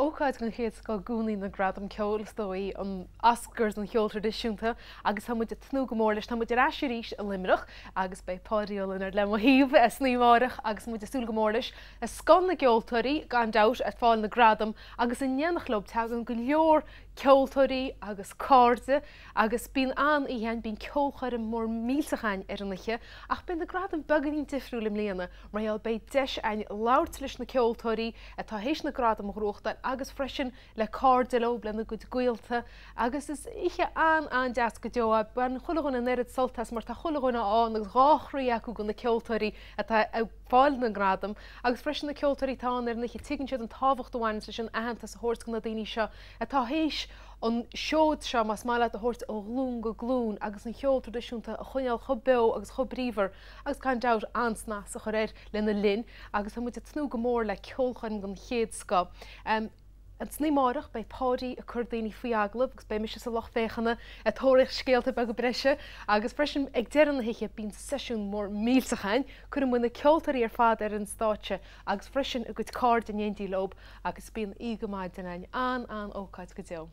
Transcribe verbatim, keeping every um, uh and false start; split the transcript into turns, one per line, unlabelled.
Ócáid den chéad scoth i gcónaí na Gradaim Ceoil, is dóigh, an Oscars an cheoil traidisiúnta agus tá muid ag tnúth go mór leis. Tá muid ar ais arís i Luimneach agus beidh Páidí Ó Lionáird le mo thaobh san oíche amárach agus muid ag súil go mór leis. Scoth na gceoltóirí, gan dabht, ag fáil na gradam agus in éineacht leo tagann go leor ceoltóirí agus cairde agus bíonn an-oíche ann, bíonn ceolchoirm mór millteach ann ar an oíche ach beidh na gradaim beagáinín difriúil i mbliana mar gheall beidh deis ann labhairt leis na ceoltóirí atá théis na gradaim a ghnóthachtáil agus freisin le cairde leo, lena gcuid gaolta agus is oíche an-an-deas go deo é. Baineann chuile dhuine an oiread sult as mar tá chuile dhuine ann agus dhá chroí acu do na ceoltóirí atá ag fáil na ngradam agus freisin na ceoltóirí atá ann ar an oíche, tuigeann siad an tábhacht a bhaineann leis an aitheantas a thabhairt do na daoine seo atá théis an seod seo, más maith leat, a thabhairt ó ghlúin go glúin agus an cheol traidisiúnta a choinneáil chomh beo agus chomh bríomhar agus gan dabht an-snas a chur air lena linn agus tá muid ag tnúth go mór le ceolchoirm den chéad scoth. San oíche amárach beidh Páidí ag cur daoine faoi agallamh agus beidh mise sa lucht féachana ag tóraíocht scéalta beaga breise agus freisin ag deireadh na hoíche bíonn seisiún mór millteach ann, cuireann muid na ceoltóirí ar fad ar an stáitse agus freisin a gcuid cairde in éindí leo agus bíonn oíche go maidin ann. An-an-ócáid go deo.